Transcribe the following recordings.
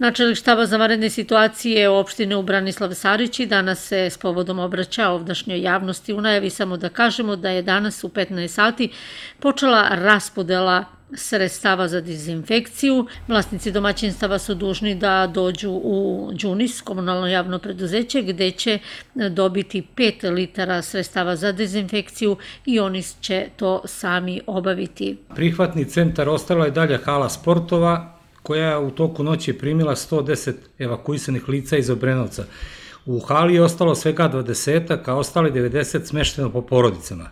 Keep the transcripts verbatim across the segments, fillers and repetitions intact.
Načelnik štaba za vanredne situacije opštine u Branislav Sarići danas se s povodom obraća ovdašnjoj javnosti. U najavi samo da kažemo da je danas u petnaest sati počela raspodela sredstava za dezinfekciju. Vlasnici domaćinstava su dužni da dođu u Đunis, komunalno javno preduzeće, gde će dobiti pet litara sredstava za dezinfekciju i oni će to sami obaviti. Prihvatni centar ostala je dalje hala sportova, koja je u toku noći primila sto deset evakuisanih lica iz Obrenovca. U hali je ostalo svega dvadesetak, a ostali devedeset smešteno po porodicama.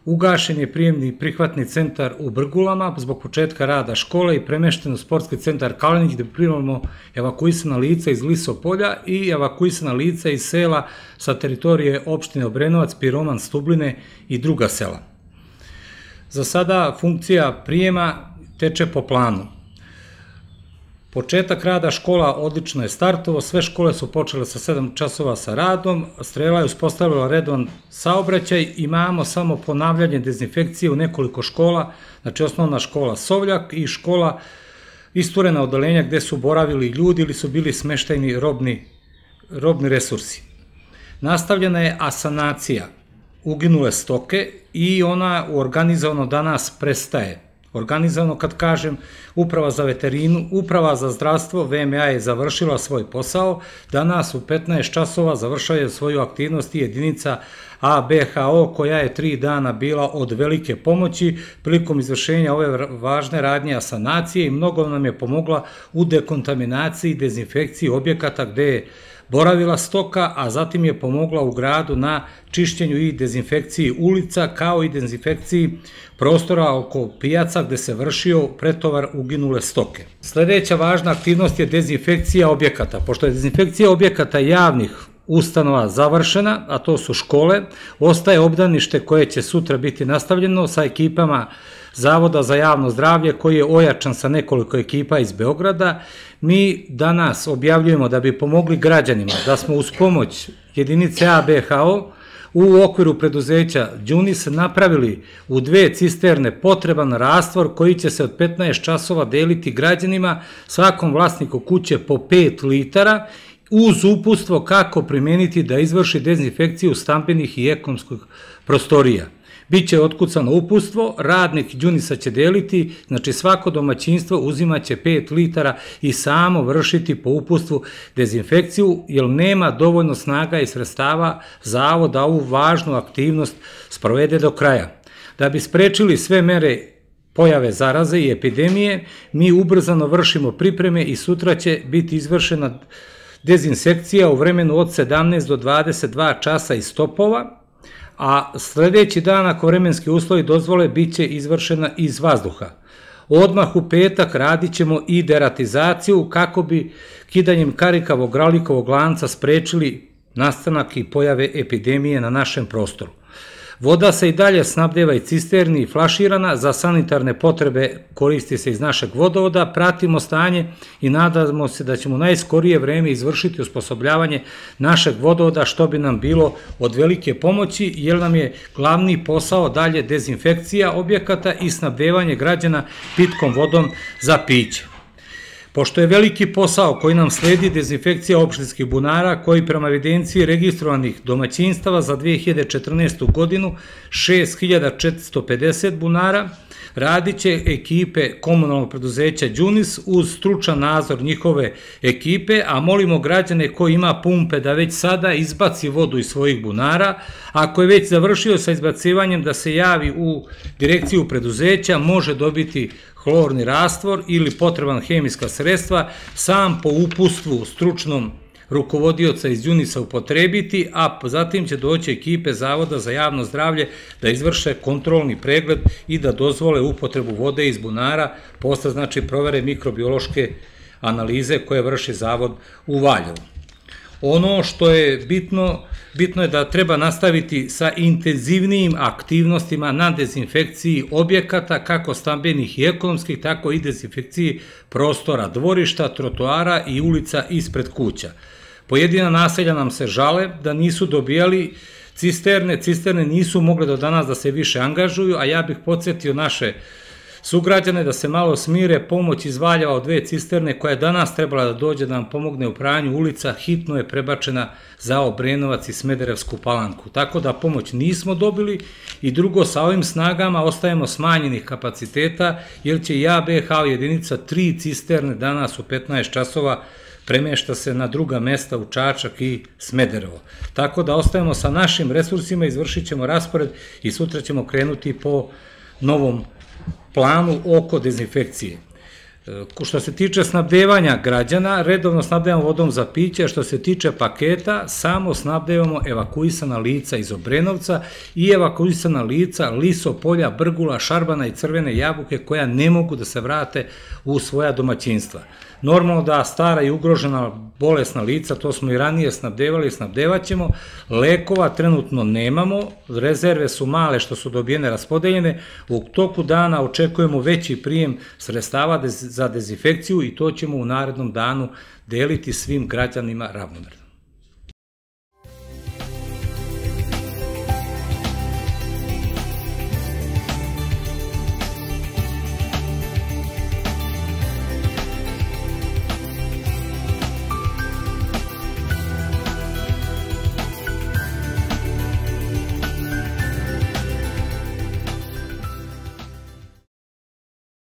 Ugašen je prijemni prihvatni centar u Brgulama zbog početka rada škole i premešten u sportski centar Kalenić gde primamo evakuisana lica iz Lisopolja i evakuisana lica iz sela sa teritorije opštine Obrenovac, Piroman, Stubline i druga sela. Za sada funkcija prijema teče po planu. Početak rada škola odlično je startovao, sve škole su počele sa sedam časova sa radom, Strela je uspostavila redovan saobraćaj, imamo samo ponavljanje dezinfekcije u nekoliko škola, znači osnovna škola Sovljak i škola isturena odeljenja gde su boravili ljudi ili su bili smeštajni robni, robni resursi. Nastavljena je asanacija uginule stoke i ona organizovano danas prestaje. Organizovano, kad kažem, Uprava za veterinu, Uprava za zdravstvo, V M A je završila svoj posao, danas u petnaest časova završaju svoju aktivnost i jedinica A B H O koja je tri dana bila od velike pomoći prilikom izvršenja ove važne radnje asanacije i mnogo nam je pomogla u dekontaminaciji i dezinfekciji objekata gde je boravila stoka, a zatim je pomogla u gradu na čišćenju i dezinfekciji ulica, kao i dezinfekciji prostora oko pijaca gde se vršio pretovar uginule stoke. Sledeća važna aktivnost je dezinfekcija objekata. Pošto je dezinfekcija objekata javnih ustanova završena, a to su škole, ostaje obdanište koje će sutra biti nastavljeno sa ekipama Zavoda za javno zdravlje koji je ojačan sa nekoliko ekipa iz Beograda. Mi danas objavljujemo da bi pomogli građanima da smo uz pomoć jedinice A B H O u okviru preduzeća Đunis napravili u dve cisterne potreban rastvor koji će se od petnaest časova deliti građanima, svakom vlasniku kuće po pet litara, uz uputstvo kako primeniti da izvrši dezinfekciju stambenih i ekonomskih prostorija. Biće otkucano uputstvo, radnik Đunisa će deliti, znači svako domaćinstvo uzimaće pet litara i samo vršiti po uputstvu dezinfekciju, jer nema dovoljno snaga i sredstava Zavod da ovu važnu aktivnost sprovede do kraja. Da bi sprečili sve mere pojave zaraze i epidemije, mi ubrzano vršimo pripreme i sutra će biti izvršena dezinsekcija u vremenu od sedamnaest do dvadeset dva časa iz topova, a sledeći dan, ako vremenski uslovi dozvole, bit će izvršena iz vazduha. Odmah u petak radit ćemo i deratizaciju kako bi kidanjem karikavog ralikovog lanca sprečili nastanak i pojave epidemije na našem prostoru. Voda se i dalje snabdeva i cisterni i flaširana, za sanitarne potrebe koristi se iz našeg vodovoda, pratimo stanje i nadamo se da ćemo u najskorije vreme izvršiti osposobljavanje našeg vodovoda, što bi nam bilo od velike pomoći, jer nam je glavni posao dalje dezinfekcija objekata i snabdevanje građana pitkom vodom za piće. Pošto je veliki posao koji nam sledi dezinfekcija opštinskih bunara, koji prema evidenciji registrovanih domaćinstava za dve hiljade četrnaestu godinu šest hiljada četiristo pedeset bunara, radit će ekipe komunalnog preduzeća Đunis uz stručan nadzor njihove ekipe, a molimo građane koji ima pumpe da već sada izbaci vodu iz svojih bunara, ako je već završio sa izbacivanjem da se javi u direkciju preduzeća, može dobiti hlorni rastvor ili potreban hemijska sredstva, sam po uputstvu stručnom rukovodioca iz Đunisa upotrebiti, a zatim će doći ekipe Zavoda za javno zdravlje da izvrše kontrolni pregled i da dozvole upotrebu vode iz bunara, posle znači provere mikrobiološke analize koje vrši Zavod u Valjevu. Ono što je bitno, bitno je da treba nastaviti sa intenzivnijim aktivnostima na dezinfekciji objekata, kako stambenih i ekonomskih, tako i dezinfekciji prostora dvorišta, trotoara i ulica ispred kuća. Pojedina naselja nam se žale da nisu dobijali cisterne, cisterne nisu mogle do danas da se više angažuju, a ja bih podsjetio naše sugrađane da se malo smire, pomoć iz Valjeva od dve cisterne koja je danas trebala da dođe da nam pomogne u pranju ulica, hitno je prebačena za Obrenovac i Smederevsku Palanku. Tako da pomoć nismo dobili i drugo, sa ovim snagama ostajemo smanjenih kapaciteta jer će i A B H jedinica tri cisterne danas u petnaest časova premešta se na druga mesta u Čačak i Smederevo. Tako da ostajemo sa našim resursima, izvršit ćemo raspored i sutra ćemo krenuti po novom planu oko dezinfekcije. Što se tiče snabdevanja građana, redovno snabdevamo vodom za piće, što se tiče paketa, samo snabdevamo evakuisana lica iz Obrenovca i evakuisana lica Liso polja, Brgula, Šarbana i Crvene Jabuke koja ne mogu da se vrate u svoja domaćinstva. Normalno da stara i ugrožena bolesna lica, to smo i ranije snabdevali i snabdevat ćemo, lekova trenutno nemamo, rezerve su male što su dobijene raspodeljene, u toku dana očekujemo veći prijem sredstava za dezinfekciju i to ćemo u narednom danu deliti svim građanima ravnomerno.